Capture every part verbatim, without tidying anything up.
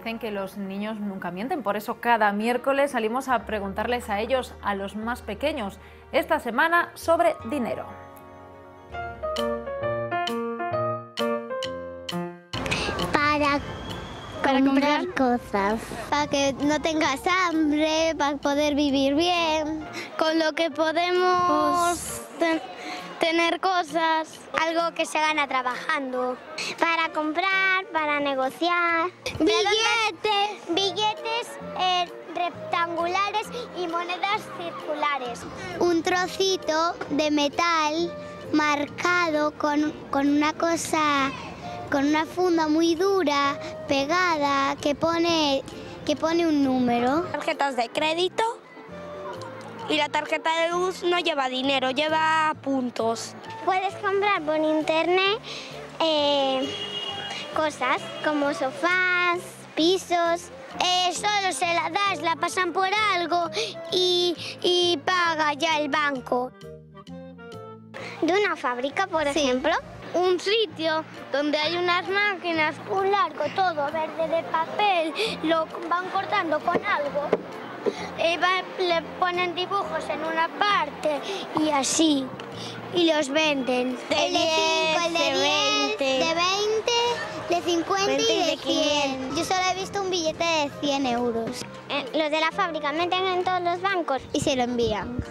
dicen que los niños nunca mienten, por eso cada miércoles salimos a preguntarles a ellos, a los más pequeños, esta semana sobre dinero. Para Para comprar, comprar cosas, para que no tengas hambre, para poder vivir bien, con lo que podemos ten- tener cosas. algo que se gana trabajando, para comprar, para negociar, billetes, billetes eh, rectangulares y monedas circulares. Un trocito de metal marcado con, con una cosa, con una funda muy dura, pegada, que pone, que pone un número. Tarjetas de crédito y la tarjeta de luz no lleva dinero, lleva puntos. Puedes comprar por internet eh, cosas como sofás, pisos. Eh, solo se la das, la pasan por algo y, y paga ya el banco. De una fábrica, por ejemplo. Un sitio donde hay unas máquinas, Un largo todo verde de papel, lo van cortando con algo. eh, va- le ponen dibujos en una parte Y así. Y los venden. De el de cinco, el de diez, de diez, veinte. de veinte, de cincuenta veinte y y de de cien. quinientos. Yo solo he visto un billete de cien euros. los de la fábrica meten en todos los bancos y se lo envían.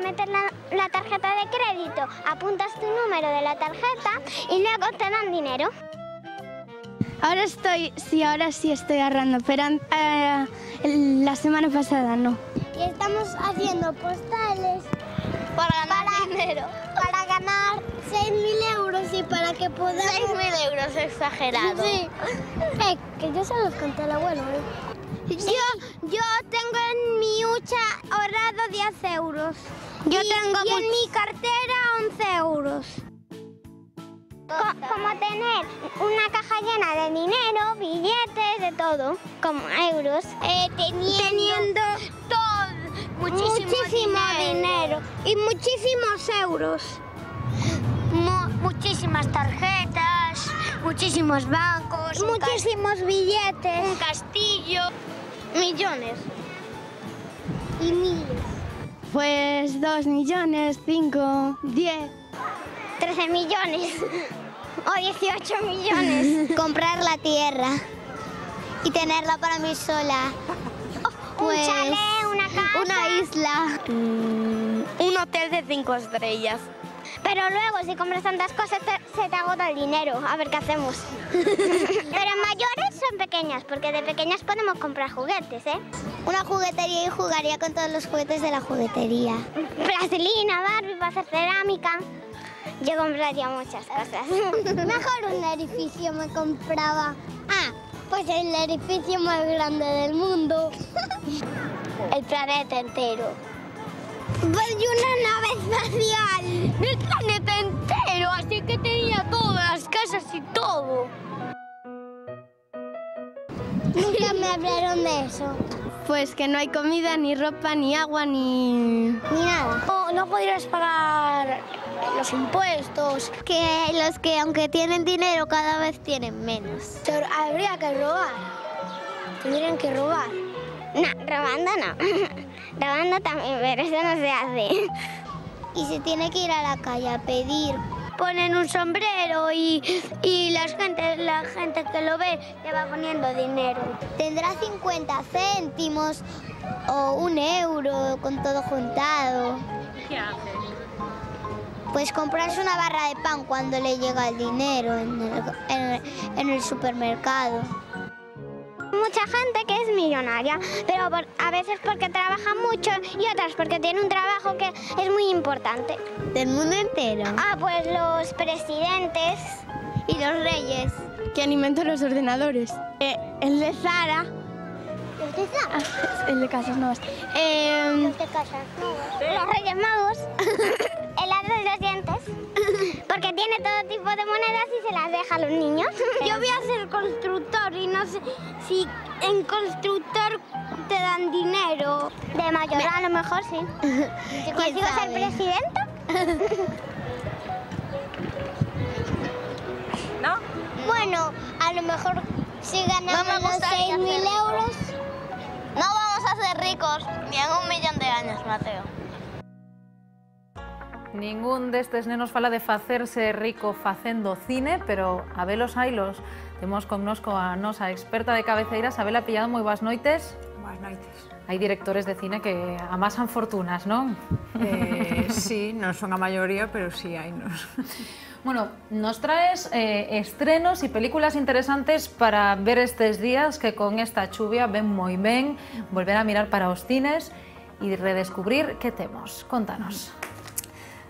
Metes la, la tarjeta de crédito, apuntas tu número de la tarjeta y luego te dan dinero. Ahora estoy, sí, ahora sí estoy ahorrando, pero eh, la semana pasada no. Y estamos haciendo postales Para ganar para, dinero. para ganar seis mil euros y para que podamos... seis mil euros, exagerado. Sí. Eh, que yo se los conté al abuelo. ¿eh? Yo, yo tengo en mi hucha ahorrado diez euros. Yo y, tengo y en much- mi cartera once euros. Co- como tener una caja llena de dinero, billetes, de todo, como euros. Eh, teniendo, Teniendo todo, muchísimo, muchísimo dinero. dinero. y muchísimos euros. Mu- muchísimas tarjetas, muchísimos bancos, un cas- Muchísimos billetes un castillo, millones. y miles. Pues dos millones, cinco, diez. trece millones o dieciocho millones. Comprar la tierra y tenerla para mí sola. Pues, un chalet, una casa. Una isla. un hotel de cinco estrellas. Pero luego, si compras tantas cosas, te- se te agota el dinero. A ver qué hacemos. Pero mayores son pequeñas, porque de pequeñas podemos comprar juguetes, ¿eh? Una juguetería y jugaría con todos los juguetes de la juguetería. Plastilina, Barbie, para hacer cerámica. Yo compraría muchas cosas. Mejor un edificio me compraba. Ah, pues el edificio más grande del mundo. El planeta entero. Pues y una nave espacial. El planeta entero, así que tenía todas las casas y todo. Nunca me hablaron de eso. Pues que no hay comida, ni ropa, ni agua, ni... Ni nada. No, no podrías pagar los impuestos. Que los que aunque tienen dinero cada vez tienen menos. Pero habría que robar. Tendrían que robar. No, robando no. Robando también, pero eso no se hace. Y se tiene que ir a la calle a pedir. Ponen un sombrero y, y la, gente, la gente que lo ve le va poniendo dinero. Tendrá cincuenta céntimos o un euro con todo juntado. ¿Qué hace? Pues comprarse una barra de pan cuando le llega el dinero en el, en el- en el supermercado. Mucha gente que es millonaria, pero por- a veces porque trabaja mucho y otras porque tiene un trabajo que es muy importante. Del mundo entero. Ah, pues los presidentes y los reyes. Que alimentan los ordenadores. Eh, el de Zara. ¿Los de Zara? Ah, el de Casas Nuevas. Eh, Los de Casas Nuevas. Los Reyes Magos. El hada de los dientes. Porque tiene todo tipo de monedas y se las deja a los niños. yo voy a ser constructor y no sé si en constructor te dan dinero. De mayor a lo mejor sí. Si consigo ser sabe? presidenta. ¿No? Bueno, a lo mejor Si ganamos los seis mil euros... No vamos a ser ricos ni en un millón de años, Mateo. Ningún destes nenos fala de facerse rico facendo cine, pero a velos ailos. Temos connosco a nosa experta de cabeceiras, Abela Pillado, moi boas noites. Boas noites. Hai directores de cine que amasan fortunas, non? Eh, sí, non son a maioría, pero sí hai nos. Bueno, nos traes eh, estrenos e películas interesantes para ver estes días que con esta chuvia ven moi ben, volver a mirar para os cines e redescubrir que temos. Contanos.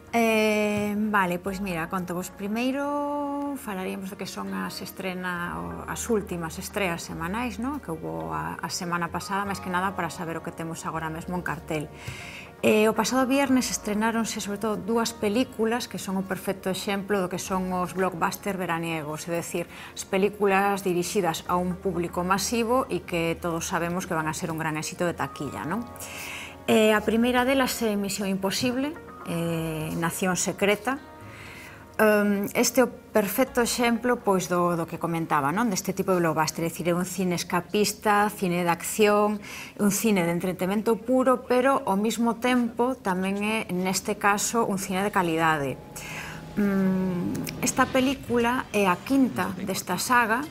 Eh, vale, pois mira, conto vos primeiro falaríamos de que son as estrena, as últimas estreas semanais, no? Que hubo a, a semana pasada, máis que nada para saber o que temos agora mesmo en cartel. Eh, o pasado viernes estrenáronse sobre todo dúas películas que son o perfecto exemplo do que son os blockbuster veraniegos, é dicir, as películas dirixidas a un público masivo e que todos sabemos que van a ser un gran éxito de taquilla, non? Eh, a primeira delas é Misión Imposible, eh, Nación Secreta. Um, este é o perfecto exemplo pois, do, do que comentaba, non? Deste tipo de blockbuster, é dicir, é un cine escapista, cine de acción, un cine de entretenimento puro, pero ao mesmo tempo tamén é, neste caso, un cine de calidade. Um, esta película é a quinta desta saga,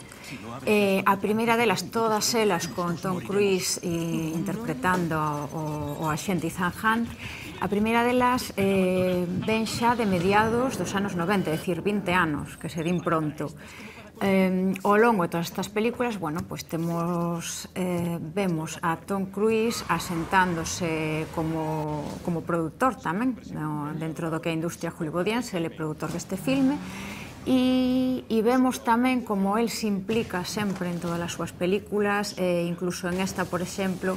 eh, a primeira delas, todas elas con Tom Cruise e, interpretando o, o axente Ethan Hunt. A primeira delas eh, ven xa de mediados dos anos noventa, é dicir, vinte anos, que se din pronto. Eh, ao longo de todas estas películas, bueno, pues temos, eh, vemos a Tom Cruise asentándose como, como produtor tamén, no, dentro do que é a industria hollywoodiense, ele é produtor deste filme, e, e vemos tamén como el se implica sempre en todas as súas películas, eh, incluso en esta, por exemplo,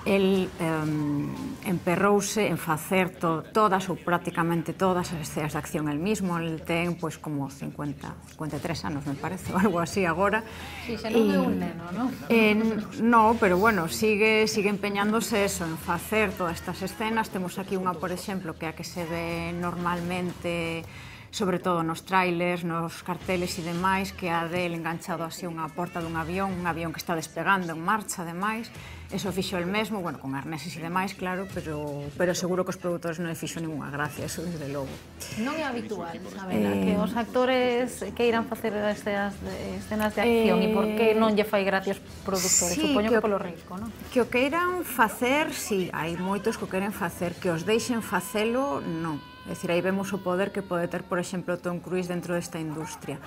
el um, emperrouse en facer to, todas ou prácticamente todas as escenas de acción el mismo. El ten pois como cincuenta, cincuenta e tres anos, me parece, ou algo así agora. Si, xa non é un neno, non? Eh, no, pero bueno, sigue, sigue empeñándose eso, en facer todas estas escenas. Temos aquí unha, por exemplo, que é a que se ve normalmente, sobre todo nos trailers, nos carteles e demais, que a del enganchado así unha porta dun avión, un avión que está despegando en marcha, ademais. Eso fixo el mesmo, bueno, con arneses e demais, claro, pero, pero seguro que os produtores non le fixo ninguna gracia, eso desde logo. Non é habitual, Isabela, eh... que os actores que irán facer escenas de, escenas de acción eh... e por que non lle fai gracia aos produtores? Sí, Supoño que, que polo risco, non? Que o queiran facer, sí, hai moitos que o queren facer, que os deixen facelo, non. É dicir, aí vemos o poder que pode ter, por exemplo, Tom Cruise dentro desta industria.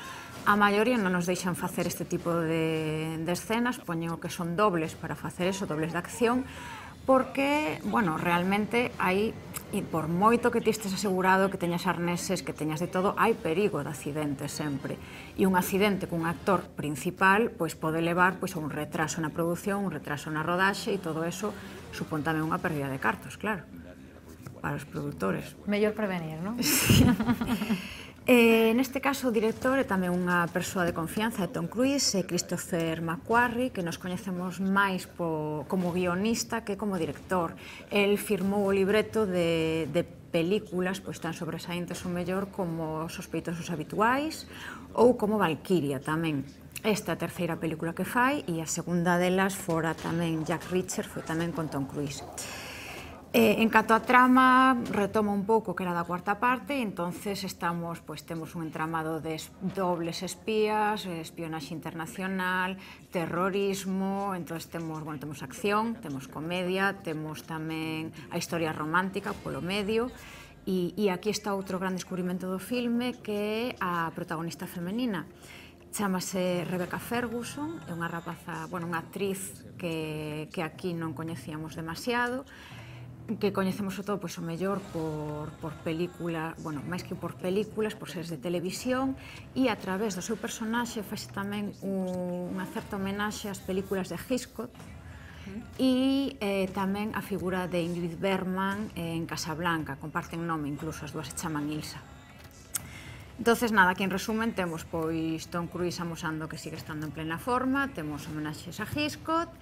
A maioría non nos deixan facer este tipo de, de escenas, poñen o que son dobles para facer eso, dobles de acción, porque, bueno, realmente hai, e por moito que ti estes asegurado, que teñas arneses, que teñas de todo, hai perigo de accidente sempre. E un accidente cun actor principal, pois pode levar pois, a un retraso na produción, un retraso na rodaxe, e todo eso supón tamén unha pérdida de cartos, claro, para os produtores. Mellor prevenir, non? Sí. Eh, neste caso, o director é tamén unha persoa de confianza de Tom Cruise, é Christopher McQuarrie, que nos coñecemos máis po, como guionista que como director. El firmou o libreto de, de películas pois, tan sobresaíntes ou mellor como Sospeitosos Habituais ou como Valkyria tamén. Esta é a terceira película que fai e a segunda delas fora tamén Jack Reacher, foi tamén con Tom Cruise. Eh, en canto a trama, retoma un pouco que era da cuarta parte, entonces estamos, pues, temos un entramado de dobles espías, espionaxe internacional, terrorismo, entonces temos, bueno, temos acción, temos comedia, temos tamén a historia romántica polo medio, e, e aquí está outro gran descubrimento do filme, que é a protagonista femenina. Chámase Rebecca Ferguson, é unha rapaza, bueno, unha actriz que, que aquí non coñecíamos demasiado, que coñecemos o todo, pois, o mellor por, por película, bueno, máis que por películas, por series de televisión, e a través do seu personaxe faz tamén un, unha certa homenaxe ás películas de Hitchcock e eh, tamén a figura de Ingrid Bergman en Casablanca, comparten nome, incluso as dúas se chaman Ilsa. Entonces, nada, aquí en resumen temos pois Tom Cruise amosando que sigue estando en plena forma, temos homenaxes a Hitchcock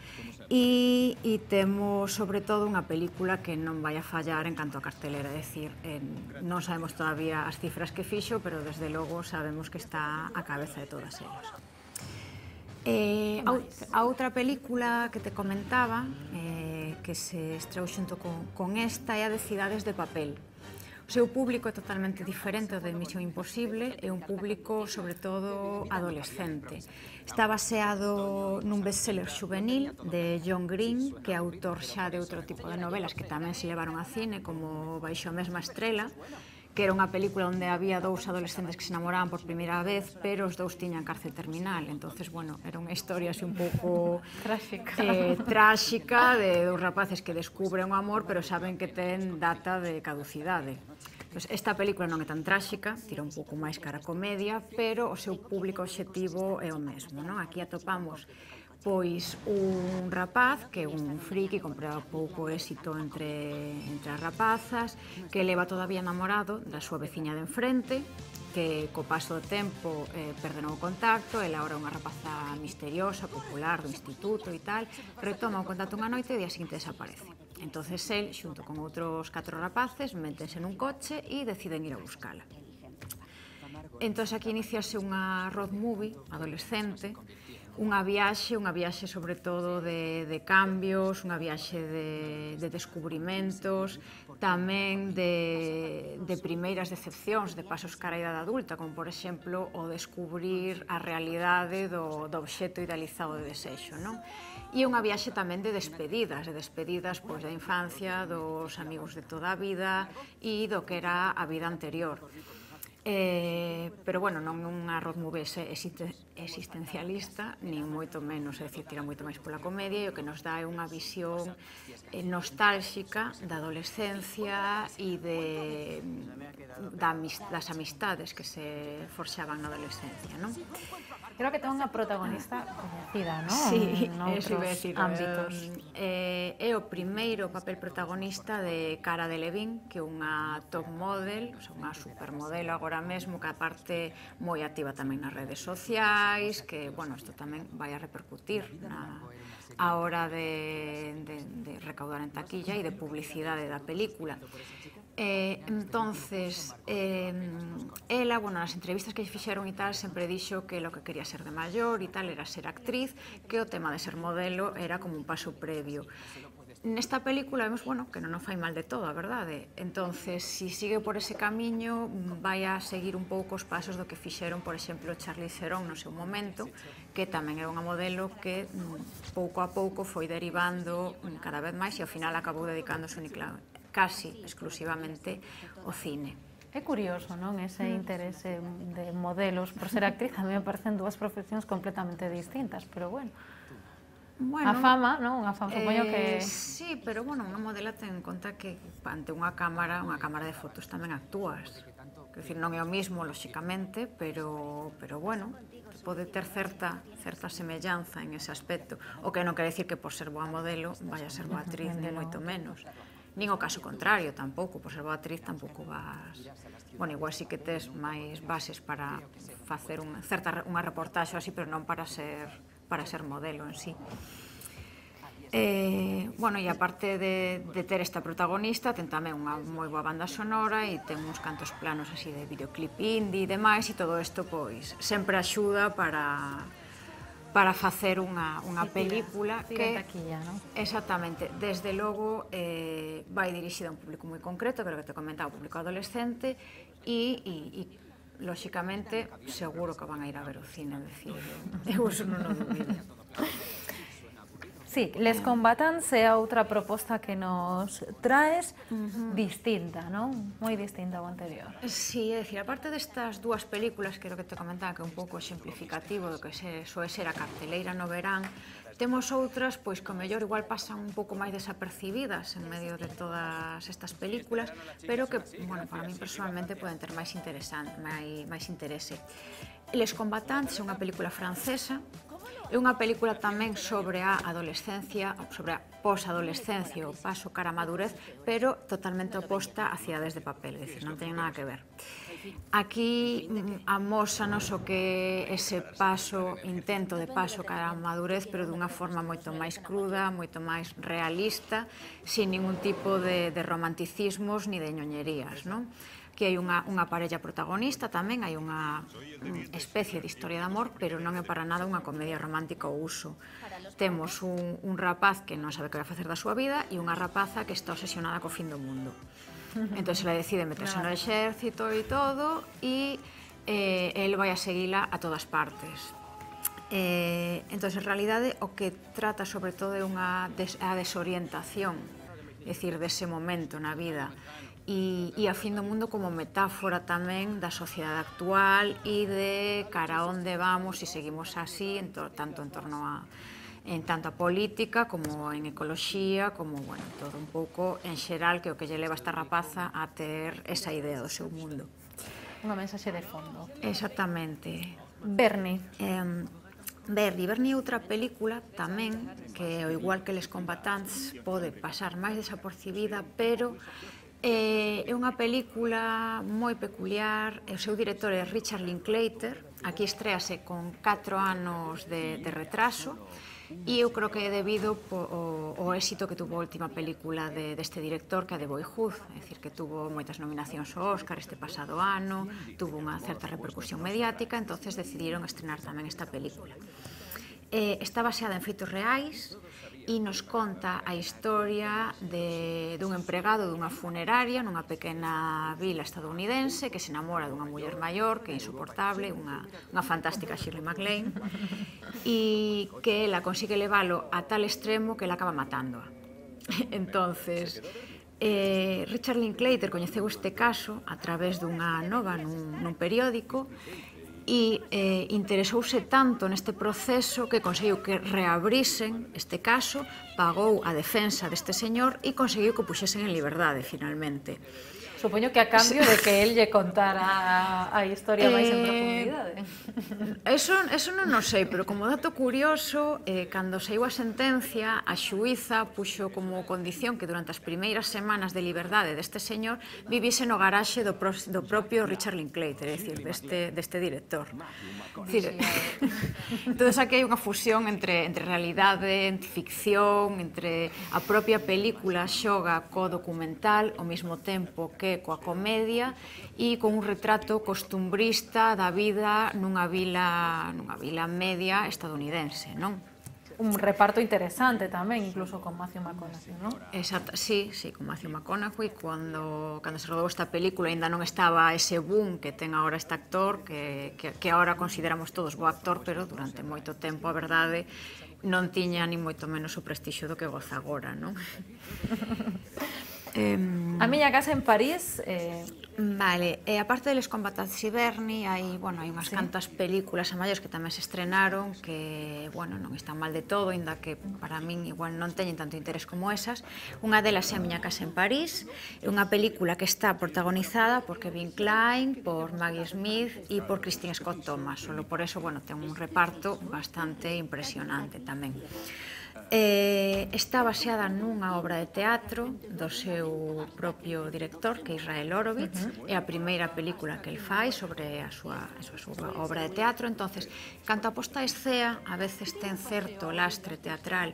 e, e temos sobre todo unha película que non vai a fallar en canto a cartelera, é dicir, en, non sabemos todavía as cifras que fixo, pero desde logo sabemos que está a cabeza de todas elas. Eh, a, a outra película que te comentaba, eh, que se estreou xunto con, con esta, é a de Cidades de Papel. O seu público é totalmente diferente ao de Misión Imposible, é un público, sobre todo, adolescente. Está baseado nun bestseller juvenil de John Green, que é autor xa de outro tipo de novelas que tamén se levaron a cine, como Baixo a mesma estrela, que era unha película onde había dous adolescentes que se enamoraban por primeira vez, pero os dous tiñan cárcel terminal. Entonces, bueno, era unha historia así un pouco tráxica, eh, tráxica de dous rapaces que descubren o amor, pero saben que ten data de caducidade. Pues esta película non é tan tráxica, tira un pouco máis cara a comedia, pero o seu público obxectivo é o mesmo, non? Aquí atopamos pois un rapaz que é un friki con pouco éxito entre, entre as rapazas, que leva todavía enamorado da súa veciña de enfrente, que co paso do tempo eh, perderon o contacto, ela agora é unha rapaza misteriosa, popular, do instituto e tal, retoma o contacto unha noite e o día seguinte desaparece. Entonces el, xunto con outros catro rapaces, métense nun coche e deciden ir a buscala. Entón aquí iniciase unha road movie adolescente, unha viaxe, unha viaxe sobre todo de, de cambios, unha viaxe de, de descubrimentos, tamén de, de primeiras decepcións, de pasos cara a idade adulta, como por exemplo o descubrir a realidade do, do obxecto idealizado de desexo, non? E unha viaxe tamén de despedidas, de despedidas pois, da infancia, dos amigos de toda a vida e do que era a vida anterior. Eh, pero, bueno, non unha road movie existencialista, nin moito menos, é dicir, tira moito máis pola comedia e o que nos dá é unha visión eh, nostálxica da adolescencia e de, da, das amistades que se forxaban na adolescencia, non? Creo que ten unha protagonista coñecida, non? Sí, noutros eso iba a decir, ámbitos. Eh, é o primeiro papel protagonista de Cara Delevingne, que é unha top model, o sea, unha supermodelo agora mesmo, que aparte moi activa tamén nas redes sociais, que, bueno, isto tamén vai a repercutir na, a hora de, de, de recaudar en taquilla e de publicidade da película. Eh, entonces, eh, ela, bueno, nas entrevistas que fixeron e tal, sempre dixo que lo que quería ser de maior e tal era ser actriz, que o tema de ser modelo era como un paso previo. Nesta película vemos, bueno, que non o fai mal de todo, a verdade. Entonces, si sigue por ese camiño, vai a seguir un pouco os pasos do que fixeron, por exemplo, Charlize Theron no seu momento, que tamén era unha modelo que pouco a pouco foi derivando cada vez máis e ao final acabou dedicándose únicamente casi exclusivamente o cine. É curioso, non? Ese interese de modelos por ser actriz, a mí me parecen dúas profesións completamente distintas, pero bueno. Bueno, a fama, non? A fama, supoño que... Eh, sí, pero, bueno, unha modela ten en conta que ante unha cámara, unha cámara de fotos tamén actúas. Quer dizer, non é o mismo, lóxicamente, pero, pero bueno, pode ter certa, certa semellanza en ese aspecto. O que non quere decir que por ser boa modelo vaya a ser boa actriz, ni moito menos. Nin o caso contrario, tampouco, por ser boa actriz tampouco vas... Bueno, igual sí que tes máis bases para facer unha, certa, unha reportaxe así, pero non para ser, para ser modelo en sí. Eh, bueno, e aparte de, de ter esta protagonista, ten tamén unha moi boa banda sonora e ten uns cantos planos así de videoclip indie e demais, e todo isto, pois, sempre axuda para... para facer unha, unha película que, taquilla, non? Exactamente, desde logo eh, vai dirixida a un público moi concreto, creo que te comentaba, o público adolescente e, e, e lóxicamente seguro que van a ir a ver o cine, decir, eu eso non o dubido. Sí, Les Combatants é outra proposta que nos traes uh-huh. distinta, non? Moi distinta ao anterior. Sí, é dicir, aparte destas dúas películas, que é o que te comentaba, que é un pouco exemplificativo do que se, soe ser a carteleira no verán, temos outras, pois, que o mellor igual pasan un pouco máis desapercibidas en medio de todas estas películas, pero que, bueno, para mí personalmente poden ter máis interesante, máis, máis interese. Les Combatants é unha película francesa. É unha película tamén sobre a adolescencia, sobre a posadolescencia, o paso cara a madurez, pero totalmente oposta a Cidades de Papel, é dicir, non ten nada que ver. Aquí amósanos o que ese paso, intento de paso cara a madurez, pero dunha forma moito máis cruda, moito máis realista, sin ningún tipo de, de romanticismos ni de ñoñerías, non? que hai unha, unha parella protagonista tamén, hai unha especie de historia de amor, pero non é para nada unha comedia romántica ao uso. Temos un, un rapaz que non sabe que vai facer da súa vida e unha rapaza que está obsesionada co fin do mundo. Entón, ela decide meterse no exército e todo, e eh, el vai a seguila a todas partes. Eh, entón, en realidade, o que trata sobre todo é unha des, a desorientación, é dicir, dese momento na vida, e, e a fin do mundo como metáfora tamén da sociedade actual e de cara a onde vamos se seguimos así, en to, tanto en torno a en tanto a política como en ecoloxía, como, bueno, todo un pouco en xeral que o que lle leva esta rapaza a ter esa idea do seu mundo. Unha mensaxe de fondo. Exactamente. Bernie. Eh, Bernie, Bernie é outra película tamén que, ao igual que Les Combatants, pode pasar máis desapercibida, pero é unha película moi peculiar. O seu director é Richard Linklater. Aquí estréase con catro anos de, de retraso, e eu creo que é debido ao éxito que tuvo a última película de, deste director, que é de Boyhood, é dicir, que tuvo moitas nominacións ao Óscar este pasado ano, tuvo unha certa repercusión mediática, entonces decidiron estrenar tamén esta película. Eh, está baseada en feitos reais e nos conta a historia de, dun empregado dunha funeraria nunha pequena vila estadounidense que se enamora dunha muller maior que é insoportable, unha, unha fantástica Shirley MacLaine, e que ela consigue leválo a tal extremo que ela acaba matándoa. Entonces, eh, Richard Linklater coñeceu este caso a través dunha nova nun, nun periódico e eh, interesouse tanto neste proceso que conseguiu que reabrisen este caso, pagou a defensa deste señor e conseguiu que o puxesen en liberdade, finalmente. Supoño que a cambio de que él lle contara a historia máis en profundidade. Eso, eso non o sei, pero como dato curioso, eh, cando saiu a sentencia, a xuíza puxo como condición que durante as primeiras semanas de liberdade deste señor vivise no garaxe do, pro, do propio Richard Linklater, é dicir, deste, deste director. Dicir, entón, aquí hai unha fusión entre, entre realidade, entre ficción, entre a propia película xoga co documental ao mesmo tempo que coa comedia e con un retrato costumbrista da vida nunha vila, nunha vila media estadounidense, non? Un reparto interesante tamén, incluso con Matthew McConaughey, non? Exacto, sí, sí, con Matthew McConaughey, cando, cando se rodou esta película ainda non estaba ese boom que ten agora este actor, que, que, que agora consideramos todos bo actor, pero durante moito tempo, a verdade, non tiña ni moito menos o prestixio do que goza agora, non? Eh, a miña casa en París... Eh... Vale, e aparte de Les Combatants e Bernie, hai, bueno, hai unhas sí. cantas películas a maiores que tamén se estrenaron que, bueno, non están mal de todo, inda que para min igual non teñen tanto interés como esas. Unha delas é A miña casa en París, é unha película que está protagonizada por Kevin Kline, por Maggie Smith e por Christine Scott Thomas. Solo por eso, bueno, ten un reparto bastante impresionante tamén. Eh, está baseada nunha obra de teatro do seu propio director, que é Israel Horovitz. Uh-huh. É a primeira película que el fai sobre a súa, a súa obra de teatro. Entonces, canto a posta a escena, a veces ten certo lastre teatral,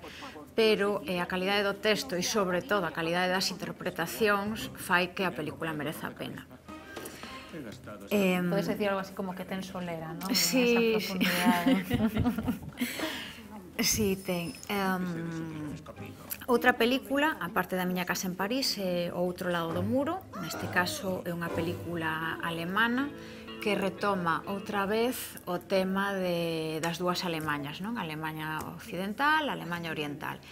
pero eh, a calidade do texto e, sobre todo, a calidade das interpretacións fai que a película mereza a pena. Eh, Podes decir algo así como que ten solera, non? Sí, sí. Sí, ten. Um, outra película, aparte da miña casa en París, é O outro lado do muro. Neste caso é unha película alemana que retoma outra vez o tema de, das dúas Alemañas, non? A Alemanha occidental, a Alemanha oriental.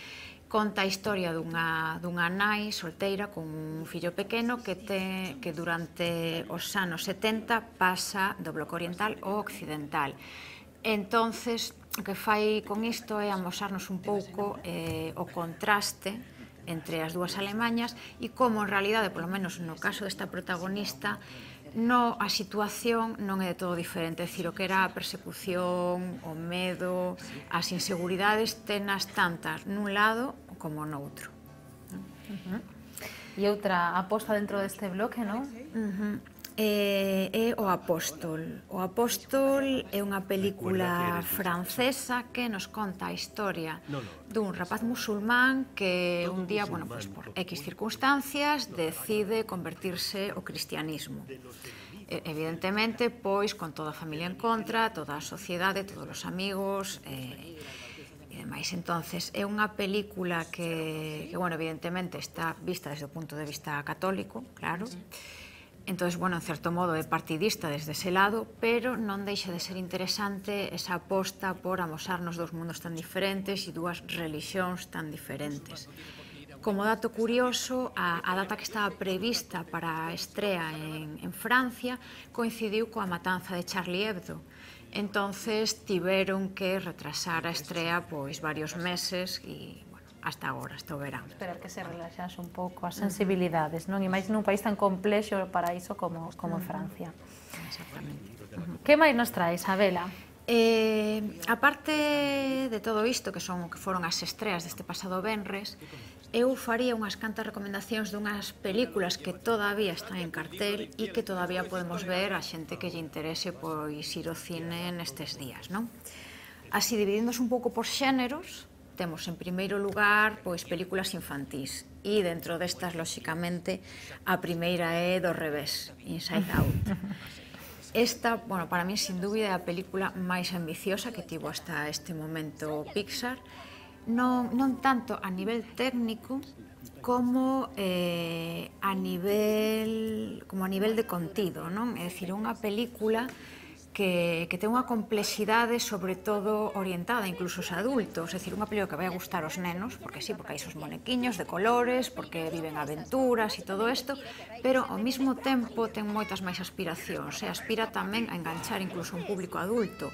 Conta a historia dunha, dunha nai solteira con un fillo pequeno que, te, que durante os anos setenta pasa do bloque oriental ao occidental. Entonces, o que fai con isto é amosarnos un pouco eh, o contraste entre as dúas Alemañas e como, en realidade, polo menos no caso desta protagonista, no, a situación non é de todo diferente. É dicir, o que era a persecución, o medo, as inseguridades, tenas tantas nun lado como noutro. Uh-huh. E outra aposta dentro deste bloque, non? Uh-huh. eh, é O Apóstol. O Apóstol é unha película francesa que nos conta a historia dun rapaz musulmán que un día, bueno, pues por X circunstancias, decide convertirse ao cristianismo. Evidentemente, pois, con toda a familia en contra, toda a sociedade, todos os amigos, e demais. Entonces, é unha película que, que, bueno, evidentemente está vista desde o punto de vista católico, claro. Entonces, bueno, en certo modo é partidista desde ese lado, pero non deixa de ser interesante esa aposta por amosarnos dos mundos tan diferentes e dúas religións tan diferentes. Como dato curioso, a, a data que estaba prevista para a estrea en, en Francia coincidiu coa matanza de Charlie Hebdo. Entonces, tiveron que retrasar a estrea pois varios meses e hasta agora, hasta o verán. Esperar que se relaxase un pouco as sensibilidades, non? E máis nun país tan complexo para iso como, como Francia. Exactamente. Que máis nos traes, Abela? Eh, a parte de todo isto, que son que foron as estreas deste pasado venres, eu faría unhas cantas recomendacións dunhas películas que todavía están en cartel e que todavía podemos ver a xente que lle interese pois ir ao cine nestes días, non? Así, dividíndoos un pouco por xéneros, temos en primeiro lugar pois películas infantís e dentro destas, lóxicamente, a primeira é Do revés, Inside Out. Esta, bueno, para mí, sin dúbida, é a película máis ambiciosa que tivo hasta este momento Pixar, non, non tanto a nivel técnico como eh, a nivel como a nivel de contido, non? É dicir, unha película que, que ten unha complexidade sobre todo orientada incluso aos adultos, é dicir, unha película que vai a gustar aos nenos, porque sí, porque hai esos monequiños de colores, porque viven aventuras e todo isto, pero ao mesmo tempo ten moitas máis aspiracións, e aspira tamén a enganchar incluso un público adulto,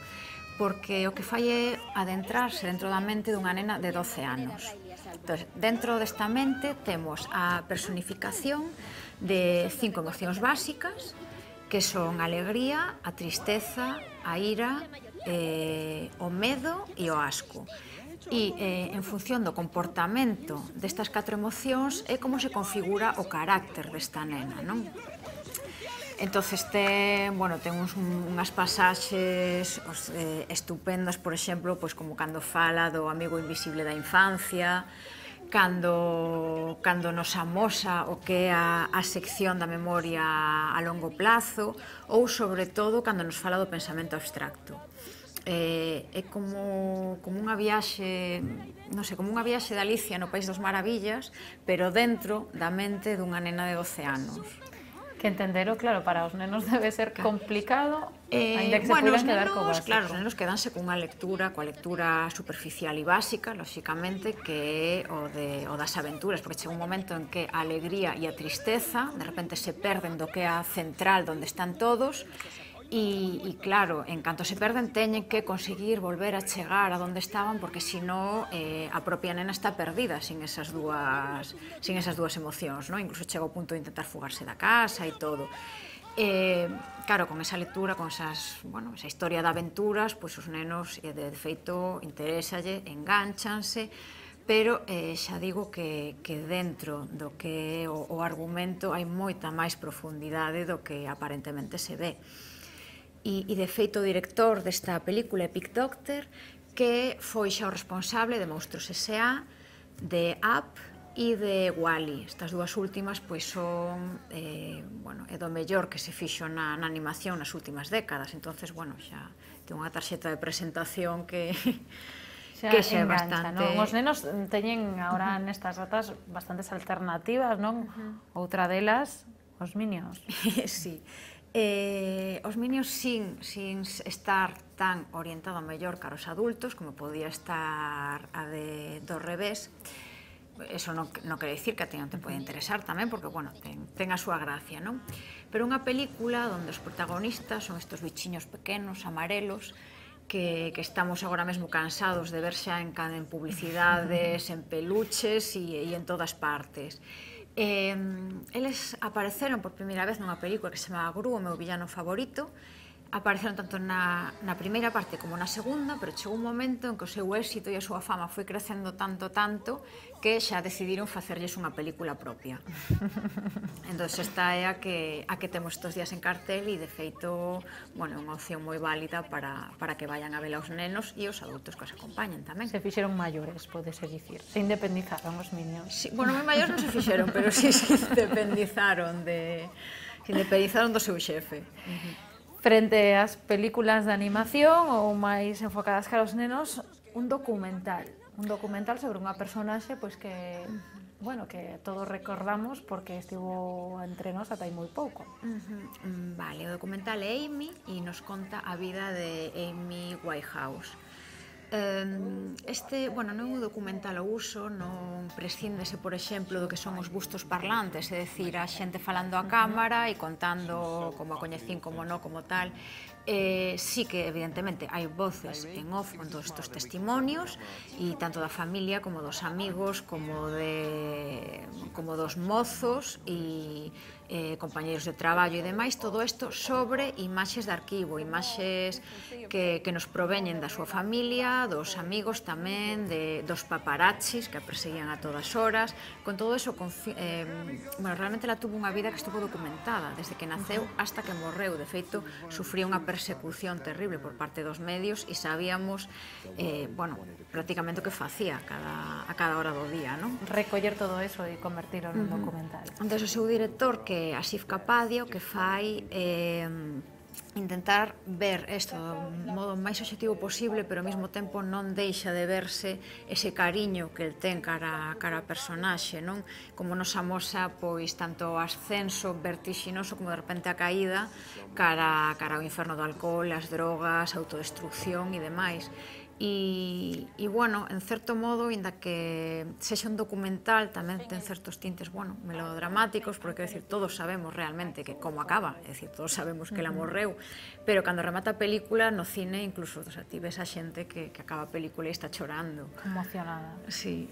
porque o que fai é adentrarse dentro da mente dunha nena de doce anos. Entón, dentro desta mente temos a personificación de cinco emocións básicas, que son a alegría, a tristeza, a ira, eh, o medo e o asco. E eh, en función do comportamento destas catro emocións é como se configura o carácter desta nena, non? Entonces ten, bueno, ten uns, unhas pasaxes os, eh, estupendas, por exemplo, pois como cando fala do amigo invisible da infancia, cando, cando nos amosa o que é a, a sección da memoria a longo plazo, ou, sobre todo, cando nos fala do pensamento abstracto. Eh, é como, como unha viaxe, non sei, como unha viaxe de Alicia no País das Maravillas, pero dentro da mente dunha nena de doce anos. Que entendero, claro, para os nenos debe ser complicado, eh, ainda que se bueno, puidan quedar co nenos, básico. claro, os nenos quedanse cunha lectura, coa lectura superficial e básica, lóxicamente, que é o, de, o das aventuras, porque chega un momento en que a alegría e a tristeza de repente se perden do que é a central onde están todos, e, e claro, en canto se perden teñen que conseguir volver a chegar a onde estaban, porque senón eh, a propia nena está perdida sin esas dúas, sin esas dúas emocións, non? Incluso chega ao punto de intentar fugarse da casa e todo. Eh, claro, con esa lectura, con esas, bueno, esa historia de aventuras, pois os nenos, eh, de feito, interésalle, enganchanse, pero eh, xa digo que, que dentro do que é o, o argumento hai moita máis profundidade do que aparentemente se ve. E, e de feito o director desta película é Pete Docter, que foi xa o responsable de Monstruos S A, de Up e de Wall-E. Estas dúas últimas pois son eh, bueno, é do mellor que se fixo na, na animación nas últimas décadas, entonces, bueno, xa ten unha tarxeta de presentación que xa que xa é engancha, bastante... non? Os nenos teñen agora nestas datas bastantes alternativas, non? Uh-huh. Outra delas, os Minions. Sí. Eh, os Minions sin, sin estar tan orientado mellor cara aos adultos como podía estar a de Do revés, eso non, non quere dicir que a ti non te pode interesar tamén, porque, bueno, ten, ten a súa gracia, non? Pero unha película onde os protagonistas son estes bichiños pequenos, amarelos, que, que estamos agora mesmo cansados de ver xa en, en publicidades, en peluches e, e en todas partes. Eh, eles apareceron por primeira vez nunha película que se chama Gru, o meu villano favorito, apareceron tanto na, na primeira parte como na segunda, pero chegou un momento en que o seu éxito e a súa fama foi crecendo tanto, tanto, que xa decidiron facerlles unha película propia. Entón, esta é a que, a que temos estes días en cartel e, de feito, bueno, é unha opción moi válida para, para que vayan a ver aos nenos e os adultos que os acompañen tamén. Se fixeron maiores, podese dicir. Se independizaron os niños. Sí, bueno, moi maiores non se fixeron, pero sí se independizaron de... se independizaron do seu xefe. Uh-huh. Frente ás películas de animación ou máis enfocadas cara aos nenos, un documental. Un documental sobre unha personaxe pois que, bueno, que todos recordamos porque estivo entre nós ata hai moi pouco. Uh-huh. Vale, o documental é Amy e nos conta a vida de Amy Winehouse. Este, bueno, non é un documental ao uso, non prescíndese, por exemplo, do que son os bustos parlantes, é dicir, a xente falando a cámara e contando como a coñecín, como non, como tal. Eh, sí que, evidentemente, hai voces en off con todos estes testimonios, e tanto da familia como dos amigos, como de como dos mozos e eh, compañeiros de traballo e demais, todo isto sobre imaxes de arquivo, imaxes que, que nos proveñen da súa familia, dos amigos tamén, de, dos paparazzis que a perseguían a todas horas. Con todo eso, eh, bueno, realmente ela tuvo unha vida que estuvo documentada desde que naceu hasta que morreu. De feito, sufría unha persecución terrible por parte dos medios e sabíamos, eh, bueno, prácticamente o que facía a cada, a cada hora do día, non? Recoller todo eso e convertirlo en un uh-huh. documental. Entón, o seu director, que é Asif Kapadia, o que fai eh, intentar ver isto do modo máis obxectivo posible, pero ao mesmo tempo non deixa de verse ese cariño que el ten cara, cara a personaxe, non? Como nos amosa, pois, tanto o ascenso vertixinoso como de repente a caída cara, cara ao inferno do alcohol, as drogas, a autodestrucción e demais. E, e, bueno, en certo modo, inda que sexa un documental, tamén ten certos tintes, bueno, melodramáticos, porque, quero dicir, todos sabemos realmente que como acaba, é dicir, todos sabemos que ela morreu, pero cando remata a película, no cine, incluso, o sea, ti ves a xente que, que acaba a película e está chorando. Emocionada. Sí.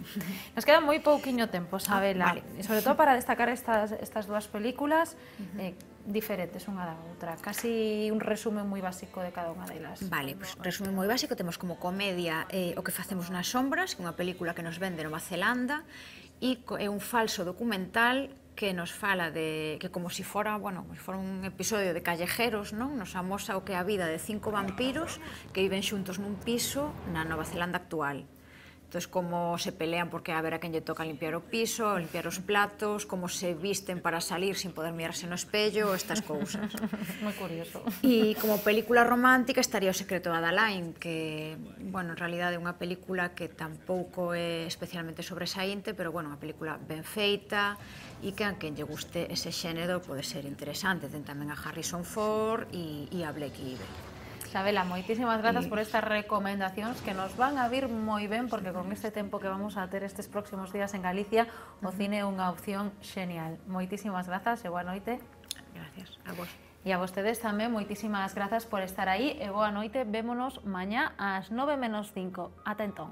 Nos queda moi pouquiño tempo, Sabela, ah, vale. E sobre todo para destacar estas, estas dúas películas, uh-huh. eh, diferentes unha da outra, casi un resumen moi básico de cada unha delas. Vale, pois pues, resumen moi básico, temos como comedia eh, O que facemos nas sombras, que é unha película que nos vende Nova Zelanda, e é un falso documental que nos fala de que como se si fora, bueno, como se si fora un episodio de Callejeros, non? Nos amosa o que é a vida de cinco vampiros que viven xuntos nun piso na Nova Zelanda actual. Entón, como se pelean porque a ver a quen lle toca limpiar o piso, limpiar os platos, como se visten para salir sin poder mirarse no espello, estas cousas. Moi curioso. E como película romántica estaría O secreto de Adalain, que, bueno, en realidad é unha película que tampouco é especialmente sobresaínte, pero, bueno, unha película ben feita e que a quen lle guste ese xénero pode ser interesante. Ten tamén a Harrison Ford e, e a Blake Lively. Sabela, moitísimas grazas por estas recomendacións que nos van a vir moi ben, porque con este tempo que vamos a ter estes próximos días en Galicia, o cine é unha opción xenial. Moitísimas grazas e boa noite. Gracias a vos. E a vostedes tamén, moitísimas grazas por estar aí e boa noite. Vémonos mañá ás nove menos cinco. Ata entón.